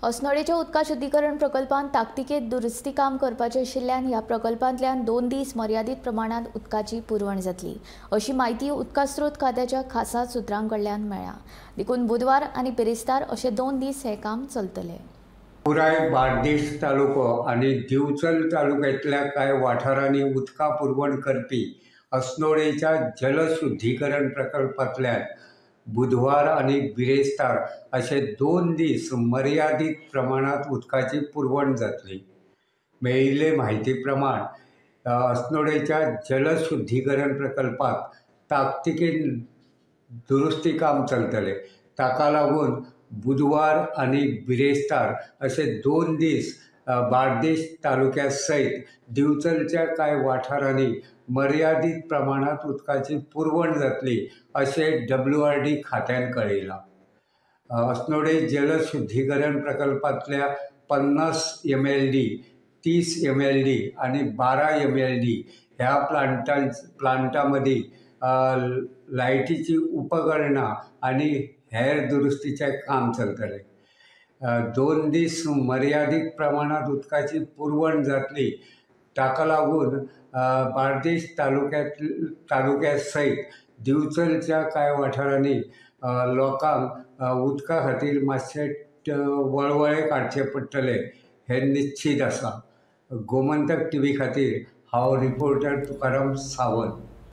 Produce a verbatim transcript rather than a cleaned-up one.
अस्नोडेच्या उदका शुद्धीकरण प्रकल्पांत ताकतिकेत दुरुस्ती काम करपाचें आशिल्ल्यान ह्या प्रकल्पांतल्यान दोन दीस मर्यादीत प्रमाणांत उदकाची पुरवण जातली अशी म्हायती उदका स्रोत खात्याच्या खासा सुत्रां कडल्यान मेळ्ळ्या. देखून बुधवार आनी बिरेस्तार अशे दोन दीस हें काम चलतलें. पुराय बार्देश तालुको आनी दिवचल तालुक्यांतल्या कांय वाठारांनी उदका पुरवण करपी अस्नोडेच्या जलशुद्धीकरण प्रकल्पांतल्यान बुधवार आनी बिरेस्तार अशे दोन दीस मर्यादीत प्रमाणांत उदकाची पुरवण जातली. मेळिल्ले म्हायती प्रमाण अस्नोडेच्या जलशुद्धीकरण प्रकल्पांत ताकतिकेन दुरुस्ती काम चलतलें. ताका लागून बुधवार आनी बिरेस्तार अशे दोन दीस बार्देश तालुक्या सयत दिवचलच्या कांय वाठारांनी मर्यादीत प्रमाणांत उदकाची पुरवण जातली अशें डब्ल्यू आर डी खात्यान कळयलां. अस्नोडे जलशुद्धीकरण प्रकल्पांतल्या पन्नास एम एल डी, तीस एम एल डी आनी बारा एम एल डी ह्या प्लांटां प्लांटा मदीं लायटीचीं उपकरणां आनी हेर दुरुस्तीचें काम चलतलें. दोन दीस मर्यादीत प्रमाणांत उदकाची पुरवण जातली. ताका लागून बार्देश तालुक्यांत तालुक्या सयत दिवचलच्या कांय वाठारांनी लोकांक उदका खातीर मातशें वळवळे काडचे पडटले हें निश्चीत आसा. गोमंतक टी व्ही खातीर हांव रिपोर्टर तुकाराम सावंत.